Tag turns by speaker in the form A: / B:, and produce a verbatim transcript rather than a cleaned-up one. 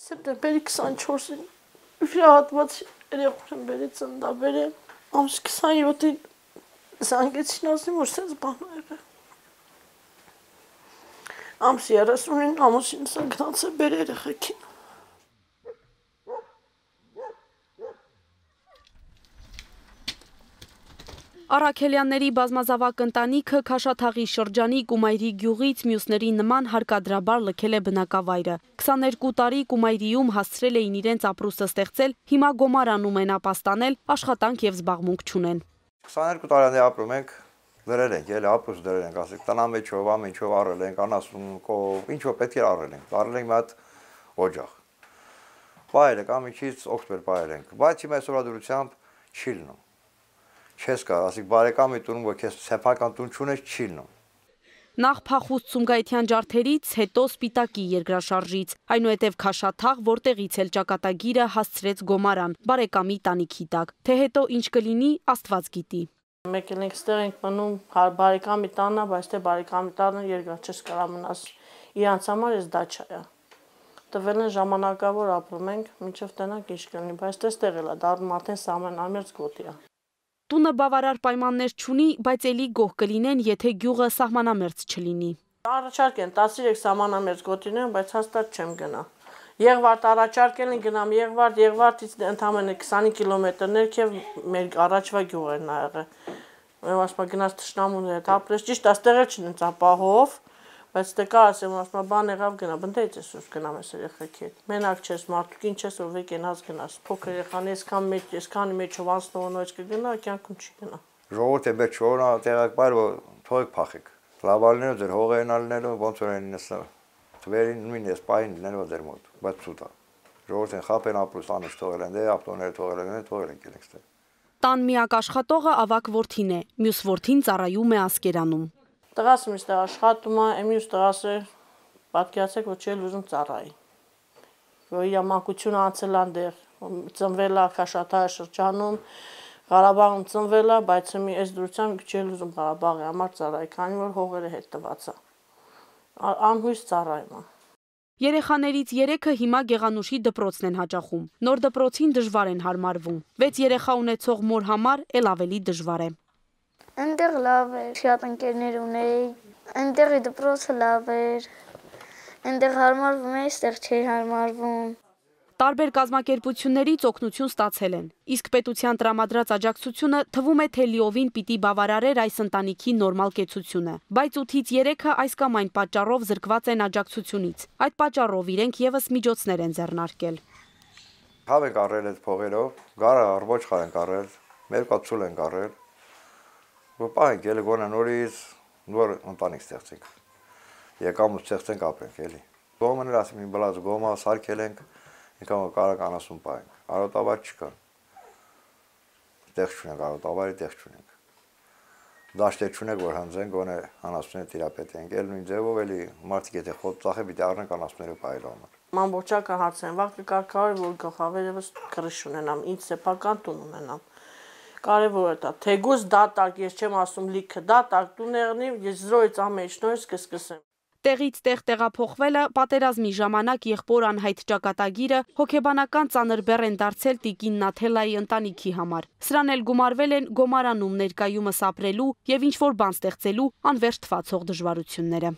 A: Սեպտեմբերի քսանչորսին հրահատված երեխան բերեց ծննդաբերը, ամսի քսանյոթին զանգեցին ասին, որ սենց բան ա եղել։ Ամսի երեսունին ամուսինս գնաց է բեր երեխեքին։
B: Առաքելյանների բազմազավակ ընտանիքը Քաշաթաղի շրջանի Կումայրի գյուղից մյուսների նման հարկադրաբար լքել է բնակավայրը։ քսաներկու տարի Կումայրիում հասցրել էին իրենց ապրուստը ստեղծել, հիմա Գոմարանում են ապաստանել, աշխատանք և զբաղմունք չունեն։
C: քսաներկու տարի ապրում ենք, դրել ենք, էլի ապրուստ դրել ենք, ասենք տնամեջով, ամենչով առել ենք, անասունքով, ինչով պետք է առել ենք, առել ենք մի հատ օջախ։ Բայել ենք, ամենքից օգտվել բայել ենք, բայց հիմա այսօրվա դրությամբ չի լինում։ Չես կար, ասիկ բարեկամի տունում, որ քեզ սեփական տուն չունես, չի լինում։
B: Նախ փախուստ Սումգայիթյան ջարդերից, հետո Սպիտակի երկրաշարժից, այնուհետև Քաշաթաղ, որտեղից էլ ճակատագիրը հասցրեց Գոմարան, բարեկամի տանիքի տակ, թե հետո ինչ կլինի, Աստված գիտի։
A: Մեկ էլ ենք ստեղ ենք մնում բարեկամի տանը, բայց թե բարեկամի տանը երկար չես կարա մնաս, իրանց համար ես դաչա է։ Տվել են ժամանակավոր ապրում ենք, մինչև տնանք ինչ կլինի, բայց տեստեղ էլ է, դառնում արդեն սահմանամերձ գոտի է։
B: Տունը բավարար պայմաններ չունի, բայց էլի գոհ կլինեն, եթե գյուղը սահմանամերձ չլինի։
A: Առաջարկ են տասնյոթ սահմանամերձ գոտիներում, բայց հաստատ չեմ գնա։ Եղվարդ առաջարկել են գնամ Եղվարդ, Եղվարդից ընդամենը քսան կիլոմետր ներքև մեր առաջվա գյուղերն ա եղել։ Ու ասում գնաց թշնամուների հետ ապրես, ճիշտ է, ստեղ էլ չնենց ապահով, բայց դե կա ասեմ, ասում բան եղավ գնա, բնդեից ես ուս գնամ ես երեխեքի հետ։ Մենակ չես, մարդուկ ինչ ես, որ վեկ ենած գնաս, փոքր երեխան այսքան մեջ, այսքանի մեջով անցնողնոց կգնա, կյանքում չի գնա։
C: Ժողովուրդը մեր չորնա տեղակ բայր, որ թողեք փախեք։ Լավալներով ձեր հողերն ալնելու, ոնց որ են նստել։ Թվերին նույն ես պայն լինելու ձեր մոտ, բայց ցույց է։ Ժողովուրդն խապեն ապրուստ անց թողել են, դե ապտոները թողել են, թողել են գելեք ստե։
B: Տան միակ աշխատողը ավակ որդին է, մյուս որդին ծառայում է Ասկերանում։
A: Տղաս միշտ աշխատում է, մյուս տղաս է պատկերացեք, որ չի ուզում ծառայի։ Որ իր մանկությունը անցել է այնտեղ, ծնվել է Քաշաթաղի շրջանում, Ղարաբաղում ծնվել է, բայց մի այս դրությամբ չի ուզում Ղարաբաղի համար ծառայի, քանի որ հողերը հետ տված է։ Անհույս ծառայում է։
B: Երեխաներից երեքը հիմա Գեղանուշի դպրոցն են հաճախում։ Նոր դպրոցին դժվար են հարմարվում։ Վեց երեխա ունեցող մոր համար էլ ավելի դժվար է։
D: Այնտեղ լավ էր, շատ ընկերներ ունեի, այնտեղի դպրոցը լավ էր, այնտեղ հարմարվում էի, այստեղ չէի հարմարվում։
B: Տարբեր կազմակերպություններից օգնություն ստացել են, իսկ պետության տրամադրած աջակցությունը թվում է, թե լիովին պիտի բավարարեր այս ընտանիքի նորմալ կեցությունը, բայց ութից երեքը այս կամ այն պատճառով զրկված են աջակցությունից։ Այդ պատճառով իրենք եւս միջոցներ են ձեռնարկել։
C: Հավ ենք առել այդ փողերով, գարը առողջ ենք առել, մերկա ցուլ ենք առել։ Որ պահենք էլի գոնե նորից նոր ընտանիք ստեղծենք։ Եկամուտ ստեղծենք ապրենք էլի։ Գոմն էլ ասում իմ բլազ գոմա սարքել ենք, ինքան կարող անասուն պահենք։ Արոտավար չկա։ Տեղ չունենք, արոտավարի տեղ չունենք։ Դաշտեր չունենք, որ հանձենք գոնե անասունները տիրապետենք։ Էլ նույն ձևով էլի մարդիկ եթե խոտ ծախե պիտի առնենք անասունները պահելու համար։
A: Մանբորջական հարցն վաղ կկարգավորի, որ գլխավերևս կրիշ ունենամ, ինձ սեփական տուն ունենամ։ Կարևոր է դա, թեգուզ դատարկ, ես չեմ ասում լիքը, դատարկ տուն եղնի, ես զրոյից ամեն ինչ նորից կսկսեմ։
B: Տեղից տեղ տեղափոխվելը, պատերազմի ժամանակ եղբոր անհայտ ճակատագիրը հոգեբանական ծանր բեռ են դարձել տիկին Նաթելայի ընտանիքի համար։ Սրան էլ գումարվել են Գոմարանում ներկայումս ապրելու և ինչ-որ բան ստեղծելու անվերջ թվացող դժվարությունները։